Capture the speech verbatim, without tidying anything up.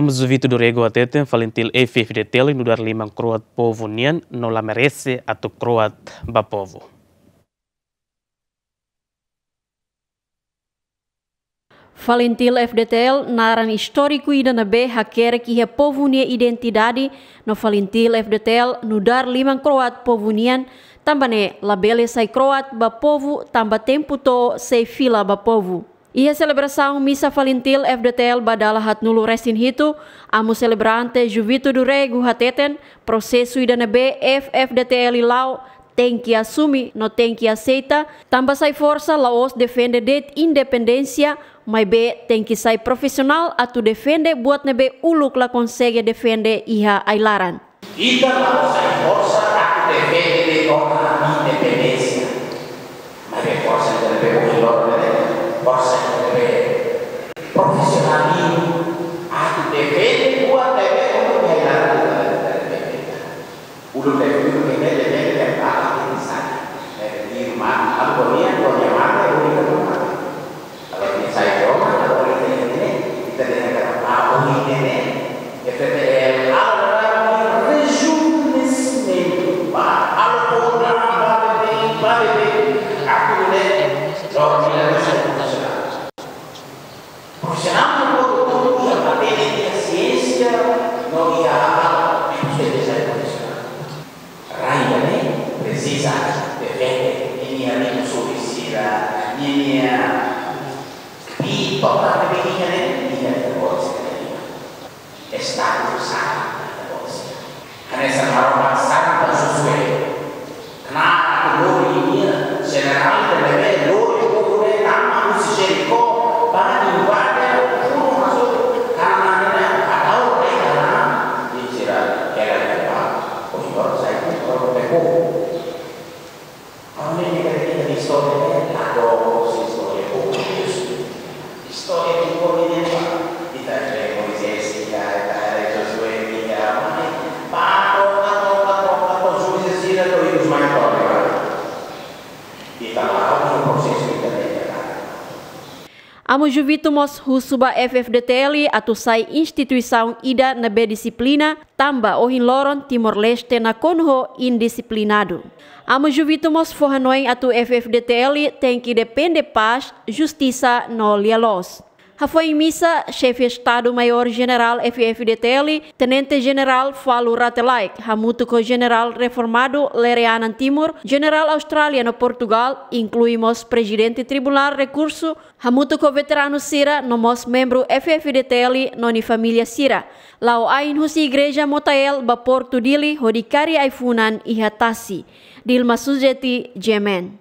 Amu Juvito do Rego hateten, FALINTIL F-FDTL nu'udar liman kro'at povu nian no la merese atu kro'at ba povu. FALINTIL F-FDTL naran istóriku ida ne'ebé hakerek iha povu nia identidade, no FALINTIL F-FDTL nu'udar liman kro'at povu nian, tanba ne'e labele sai kro'at ba povu, tanba tempu to'o sei fila ba povu. Iha selebrasaun misa FALINTIL F-FDTL ba dala haatnulu-resin-hitu, amu selebrante Juvito do Rego hateten, prosesu ida ne'ebé F-FDTL la'o tenke asume no tenke aseita, tanba sai forsa la'ós defende de'it independénsia, maibé tenke sai profisionál atu defende buat ne'ebé uluk la konsege defende iha ai-laran. Ita la'ós sai forsa atu defende de'it ona ami independénsia. Maibé forsa ida ne'ebé ohin loron ne'e, forsa ida ne'ebé profisionalizmu atu defende buat ne'ebé uluk iha ai-laran ita defende. Uluk ne'e, uluk ne'e, ne'e, ne'e, ne'e, ne'e, ne'e, ne'e, irmán, algo nian, doña madre, única madre. Kalau ita sai ruma, kalau ita ne'e, ita dehan katak, ah, ohin ne'e, F-FDTL, agora rejuvenescimento, ba, algo, ba, bebé, ba, bebé, aku ne'e, dormi la bisa, bisa. Profisionál no produtór uza materia iha siénsia no iha hal, ne'e mós deve ser profisionál. Rai ida-ne'e presiza defende ninia rikusoin sira, ninia pipa, parte de ninia, ninia negósiu. Estadu sala, hanesan Maromak sala Josué. Knaar atu lori ninia jenerál ne'ebé lori povu ne'e tama husi Jerikó, ba invade, funu masuk Kanaan ne'e, ba tau rai Kanaan. Sira hela iha ba, ohin loron sai, ohin loron peko. Ami ne'e karik ita istória ne'e, la dook istória boot. Istória Timor ne'e, ita haree Moisés, ita, ita haree Josué, ita, mane, ba, ba, ba, juízes sira to'o ikus mai to'o agora. Ita la, prosesu ita ne'e, ita la. Amu Juvito mós husu ba F-FDTL atu sai instituisaun ida ne'ebé dixiplina, tanba ohin loron Timor-Leste nakonu ho indixiplinadu. Amu Juvito mós fó hanoin atu F-FDTL tenke defende pás, justisa no lia-loos. Hafoin misa, Xefe Estadu-Maiór Jenerál F-FDTL, Tenente Jenerál Falur Rate Laek, hamutuk ho Jenerál reformadu Lere Anan Timur, Jenerál Austrália no Portugál, inklui mós Prezidente Tribunál Rekursu, hamutuk ho veteranu sira no mós membru F-FDTL no nia família sira, la'o ain husi Igreja Motael ba Portu Dili hodi kaer ai-funan iha tasi. Dilma Suzeti, G M N.